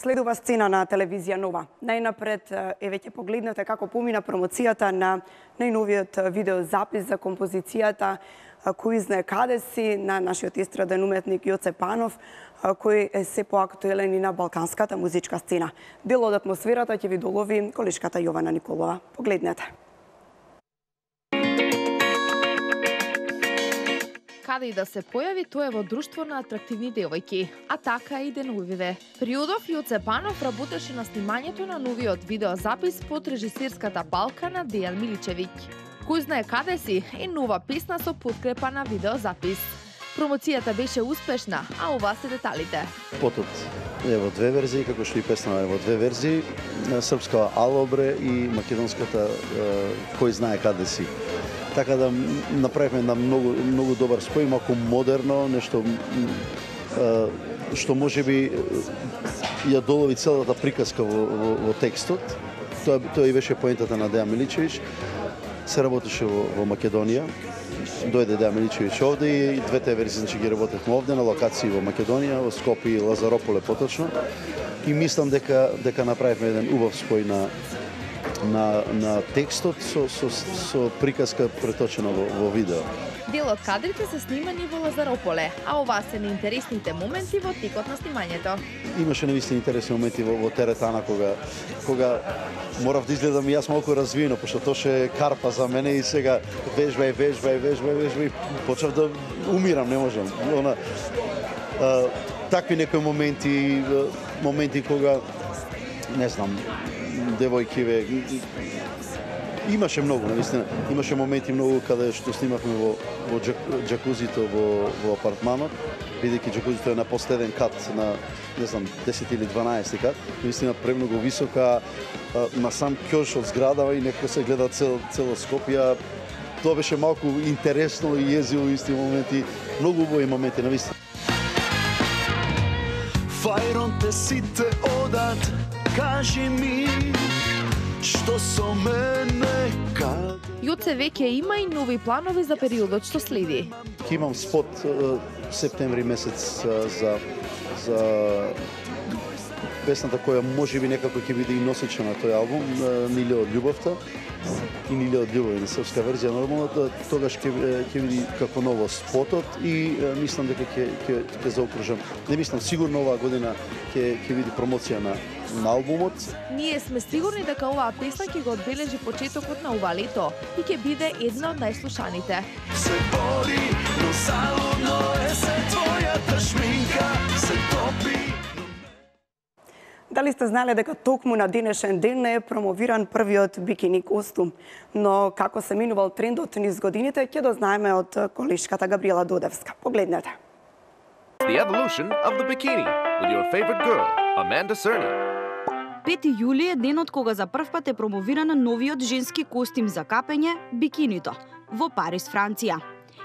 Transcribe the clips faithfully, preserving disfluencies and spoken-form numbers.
следува сцена на телевизија Нова. Најнапред е веќе погледнете како помина промоцијата на најновиот видеозапис за композицијата Кој знае каде си на нашиот естраден уметник Јоце Панов, кој е се поактуелен и на балканската музичка сцена. Дел од атмосферата ќе ви долови колешката Јована Николова. Погледнете. Каде и да се појави, тој е во друштво на атрактивни девојки, а така и деновиве. Периодов Јоце Панов работеше на снимањето на новиот видеозапис под режисерската палка на Дејан Миличевиќ. Кој знае каде си е нова песна со подкрепа на видеозапис. Промоцијата беше успешна, а ова се деталите. Потот е во две верзии, како што и песна е во две верзии, српска Алобре и македонската Кој знае каде си. Така да направивме една многу многу добар спој, малку модерно, нешто што можеби ја долови целата приказка во, во, во текстот. Тоа тоа и беше поентата на Дејан Миличевиќ. Се работеше во, во Македонија. Дојде Дејан Миличевиќ овде и двете верзии значи ги работевме овде на локации во Македонија, во Скопје и Лазарополе поточно. И мислам дека дека направивме еден убав спој на на на текстот со со со приказка преточена во, во видео. Дел од кадрите се снимани во Лазарополе, а ова се неинтересните моменти во текот на снимањето. Имаше навистина интересни моменти во, во теретана кога кога морав да изгледам и јас малку развиено, пошто тоше карпа за мене и сега вежбај, вежбај, вежбај, вежбај, почнав да умирам, не можам. Она а, такви некои моменти, моменти кога не знам, девојкиве имаше многу, навистина. Имаше моменти многу каде што снимавме во во џакузито во во апартманот, бидејќи џакузито е на последен кат на не знам десет или дванаесет кат, навистина премногу висока, на сам ќош од зграда и некако се гледа цел цело Скопје. Тоа беше малку интересно и језиво исти моменти, многу убави моменти навистина. Фајронте сите одат, кажи ми што со мене каде. Јоце веќе има и нови планови за периодот што следи. Ќе имам спот септември месец за за песната која можеби некако ќе биде и носеча на тој албум, Ниле од љубовта и Ниле од љубов на српска верзија нормално, тогаш ќе ќе биде како ново спотот и мислам дека ќе ќе ќе заокружам. Не мислам сигурно оваа година ќе ќе биде промоција на на албумот. Ние сме сигурни дека оваа песна ќе го одбележи почетокот на ова лето и ќе биде една од најслушаните. Се бори, но залудно е се твојата шминка, се топи. Дали сте знали дека токму на денешен ден е промовиран првиот бикини костум? Но како се минувал трендот низ годините, ќе дознаеме од колешката Габриела Додевска. Погледнете. The evolution of the bikini with your favorite girl, Amanda Cerny. пети јули е денот кога за прв пат е промовиран новиот женски костим за капење, бикинито, во Париз, Франција.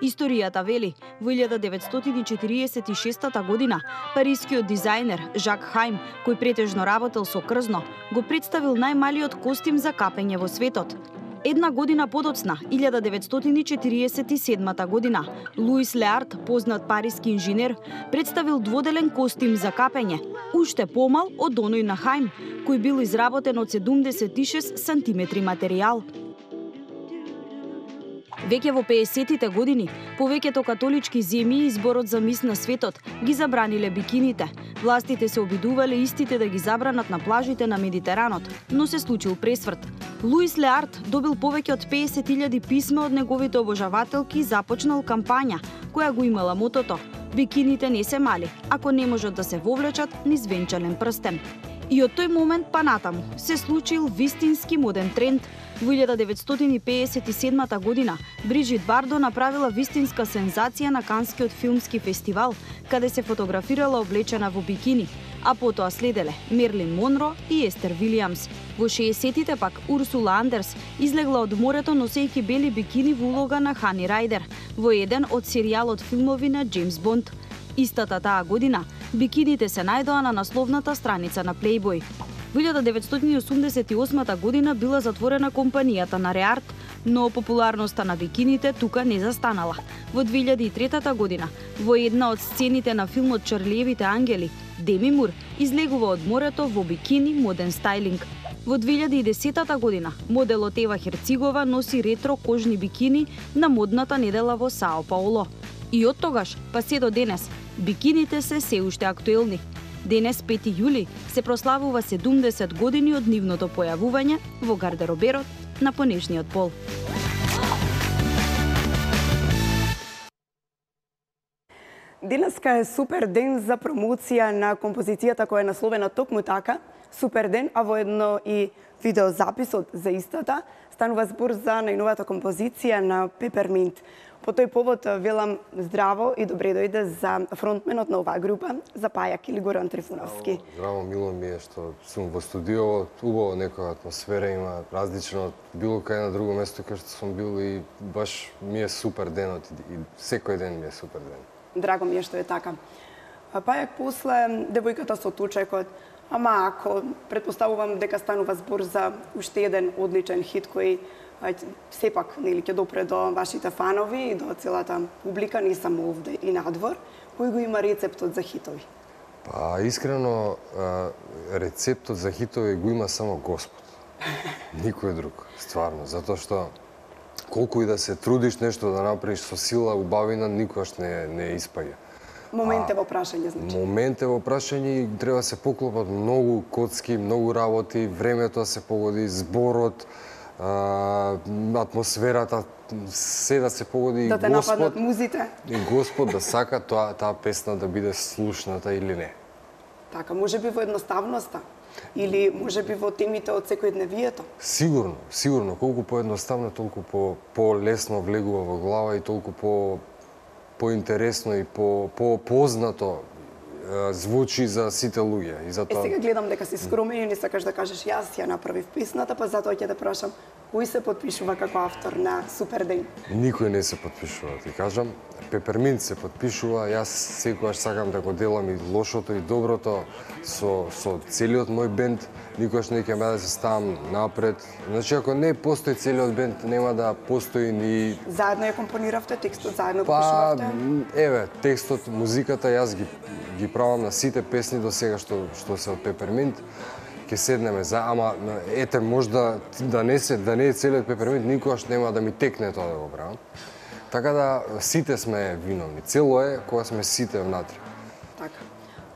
Историјата вели, во илјада деветстотини четириесет и шеста година, парискиот дизајнер Жак Хаим, кој претежно работел со крзно, го представил најмалиот костим за капење во светот. Една година подоцна, илјада деветстотини четириесет и седма година, Луис Леард, познат париски инженер, представил дводелен костим за капење, уште помал од оној на Хаим, кој бил изработен од седумдесет и шест сантиметри материјал. Веќе во пеесеттите години, повеќето католички земји и Зборот за мис на светот ги забраниле бикините. Властите се обидувале истите да ги забранат на плажите на Медитеранот, но се случил пресврт. Луис Леард добил повеќе од песет илјади писма од неговите обожавателки и започнал кампања, која го имала мотото: бикините не се мали, ако не можат да се вовлечат низ венчален прстен. И од тој момент па натаму се случил вистински моден тренд. Во илјада деветстотини пеесет и седма година Бриджит Бардо направила вистинска сензација на Канскиот филмски фестивал, каде се фотографирала облечена во бикини, а потоа следеле Мерлин Монро и Естер Вилијамс. Во шеесеттите пак Урсула Андерс излегла од морето носејќи бели бикини во улога на Хани Рајдер во еден од серијалот филмови на Џејмс Бонд. Истата таа година бикините се најдоа на насловната страница на Playboy. Во илјада деветстотини и осумдесет и осма година била затворена компанијата на Реарт, но популарноста на бикините тука не застанала. Во две илјади и трета година, во една од сцените на филмот Чарлиевите ангели, Деми Мур излегува од морето во бикини моден стајлинг. Во две илјади и десетата година моделот Ева Херцигова носи ретро кожни бикини на модната недела во Сао Пауло. И од тогаш па се до денес бикините се се уште актуелни. Денес, пети јули, се прославува седумдесет години од нивното појавување во гардероберот на понешниот пол. Денеска е супер ден за промоција на композицијата која е насловена токму така, супер ден, а воедно и видеозаписот за истата. Станува збор за најновата композиција на Пеперминт. По тој повод велам здраво и добре дојде за фронтменот на оваа група, за Пајак или Горан Трифуновски. Здраво, мило ми е што сум во студио, убаво некоја атмосфера има, различно од било кај на друго место кај што сум бил и баш ми е супер денот и секој ден ми е супер ден. Драго ми е што е така. Пајак после девојката со тучекот, ама ако предпоставувам дека станува збор за уште еден одличен хит кој сепак нели ќе допре до вашите фанови и до целата публика, не само овде и надвор, кој го има рецептот за хитови? Па искрено рецептот за хитови го има само Господ. Никој друг, стварно, затоа што колку и да се трудиш нешто да направиш со сила, убавина, никогаш не не испаѓа. Момент е во прашање, значи. Момент е во прашање и треба да се поклопат многу коцки, многу работи, времето да се погоди, зборот, а, атмосферата, се да се погоди да те Господ, нападнат музите. И Господ да сака тоа таа песна да биде слушната или не. Така, може би во едноставноста или може би во темите од секојдневието. Сигурно, сигурно, колку поедноставно, толку по полесно влегува во глава и толку по поинтересно и по попознато звучи за сите луѓе и затоа. Е сега гледам дека си скромен и не сакаш да кажеш јас ја направив песната, па затоа ќе те прашам кој се потпишува како автор на Супер ден? Никој не се потпишува, ти кажам. Пеперминт се потпишува, јас секогаш сакам да го делам и лошото и доброто со со целиот мој бенд, никогаш не ќе ме да се ставам напред. Значи ако не постои целиот бенд, нема да постои ни. Заедно ја компониравте текстот, заедно го Па, пишувавте? еве, текстот, музиката јас ги ги правам на сите песни до сега што што се од Пеперминт. Ќе седнеме за, ама ете можда да не се да не е целиот Пеперминт, никогаш нема да ми текне тоа да го правам. Така да сите сме виновни. Цело е кога сме сите внатре. Така.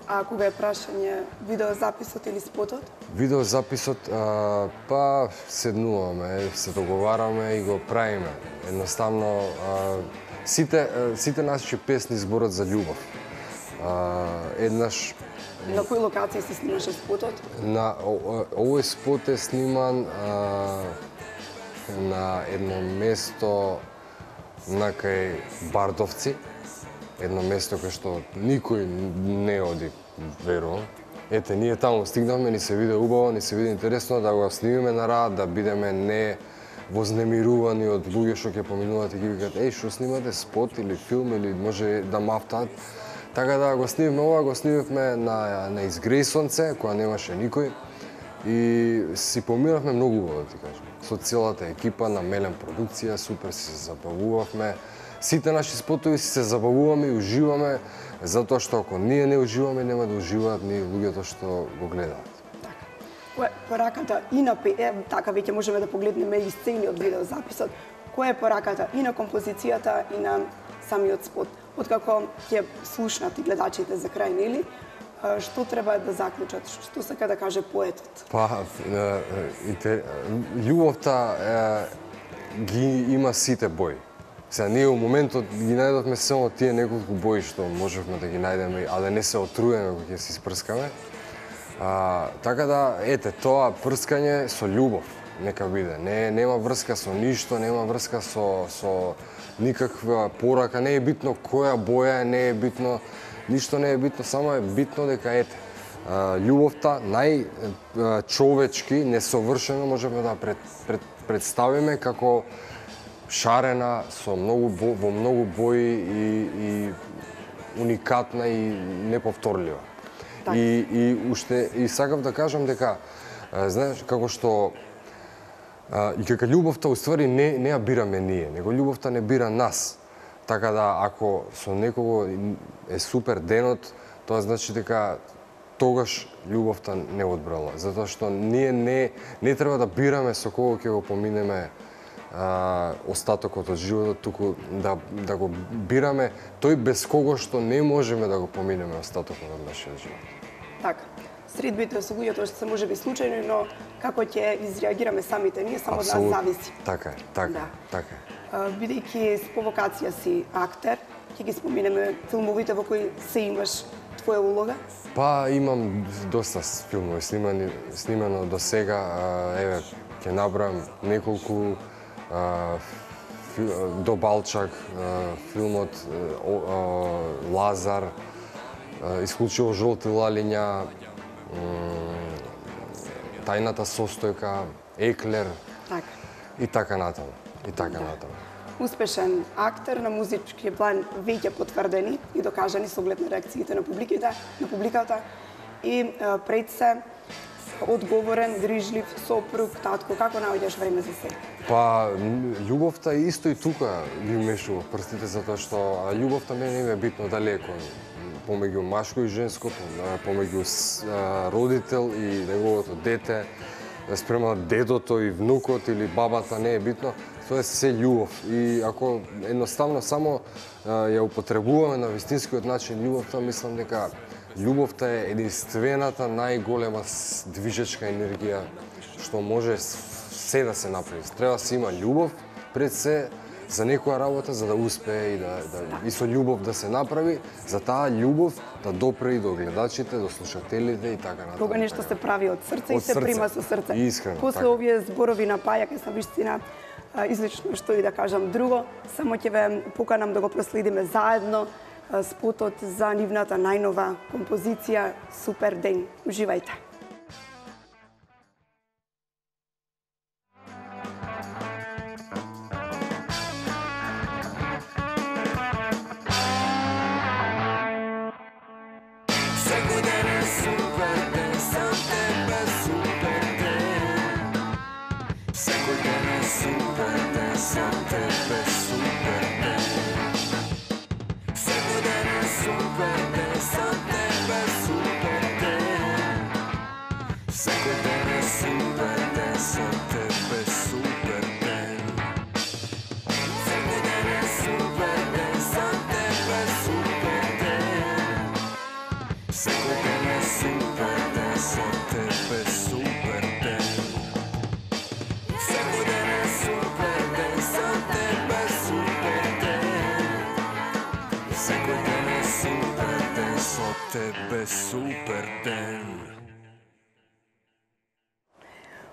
А кога е прашање видеозаписот или спотот? Видеозаписот, а, па седнуваме, се договараме и го правиме. Едноставно а, сите сите наши песни зборат за љубов. А, еднаш На кои локации се снимаше спотот? На о, овој спот е сниман а, на едно место на кај Бардовци, едно место кај што никој не оди, верувам. Ете, ние таму стигнавме, ни се виде убаво, ни се виде интересно да го снимиме на рад, да бидеме не вознемирувани од луѓе што ќе поминуваат и ги викаат еј, што снимате спот или филм или може да мафтаат. Така да го снимивме ова, го снимивме на, на Изгрејсонце, која немаше никој. И си поминавме многу убаво, да ти кажам. Со целата екипа на Мелен продукција, супер си се забавувавме. Сите наши спотови си се забавуваме и уживаме, затоа што ако ние не уживаме, нема да уживаат ни луѓето што го гледаат. Така. Која е пораката и на е, така веќе можеме да погледнеме и сцени од видеозаписот. Која е пораката и на композицијата и на самиот спот? Откако ќе слушнат и гледачите за крај, нели? Што треба да заклучат? Што сака да каже поетот? Па, љубовта ги има сите бои. Сега ние во моментот ги најдовме само тие неколку бои што можевме да ги најдеме, а да не се отруеме кога ќе се испрскаме. А, така да, ете, тоа прскање со љубов нека биде. Не нема врска со ништо, нема врска со со никаква порака, не е битно која боја е, не е битно, ништо не е битно, само е битно дека ете, љубовта најчовечки, несовршено можеме да пред, пред, представиме како шарена со многу во многу бои и, и уникатна и неповторлива. Так. И и уште и сакав да кажам дека знаеш како што А, и дека љубовта уствари не, не ја бираме ние, него љубовта не бира нас. Така да, ако со некого е супер денот, тоа значи дека тогаш љубовта не одбрала. Затоа што ние не, не треба да бираме со кого ќе го поминеме а, остатокот од животот, туку да, да го бираме тој без кого што не можеме да го поминеме остатокот од нашиот живот. Така. Средбите со луѓето што се може би случајно, но како ќе изреагираме самите ние, само од нас зависи. Така е, така, Да. така е. Бидејќи с повокација си актер, ќе ги споменеме филмовите во кои се имаш твоја улога? Па имам доста филмови снимани, снимано до сега, а, еве ќе набрам неколку а, фи, до Балчак, а, филмот а, а, Лазар, а, исклучиво жолти лалиња, тајната состојка, Еклер, Така. и така натаму, и така натаму. Успешен актер на музички план, веќе потврдени и докажани со оглед на реакциите на публиките, на публиката, и е, пред се одговорен, грижлив, сопруг, татко. Како наоѓаш време за себе? Па, љубовта исто и тука ги мешува прстите, затоа што љубовта мене не е битно далеко. Помеѓу машко и женско, помеѓу родител и неговото дете, спрема дедото и внукот или бабата, не е битно. Тоа е се љубов. И ако едноставно само ја употребуваме на вистинскиот начин љубовта, мислам дека љубовта е единствената најголема движечка енергија што може се да се направи. Треба да се има љубов пред се за некоја работа, за да успее и да, да и со љубов да се направи, за таа љубов да допре и до гледачите, до слушателите и така натаму. Кога нешто се прави од срце и се прима со срце. Искрено. После така. овие зборови на Паја, ке сам вистина излично што и да кажам друго, само ќе ве поканам да го проследиме заедно спотот за нивната најнова композиција Супер ден. Уживајте.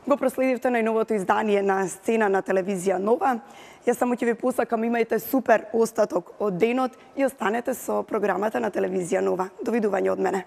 Го проследивте најновото издание на Сцена на телевизија Нова. Јас само ќе ви посакам, имајте супер остаток од денот и останете со програмата на телевизија Нова. Довидување од мене.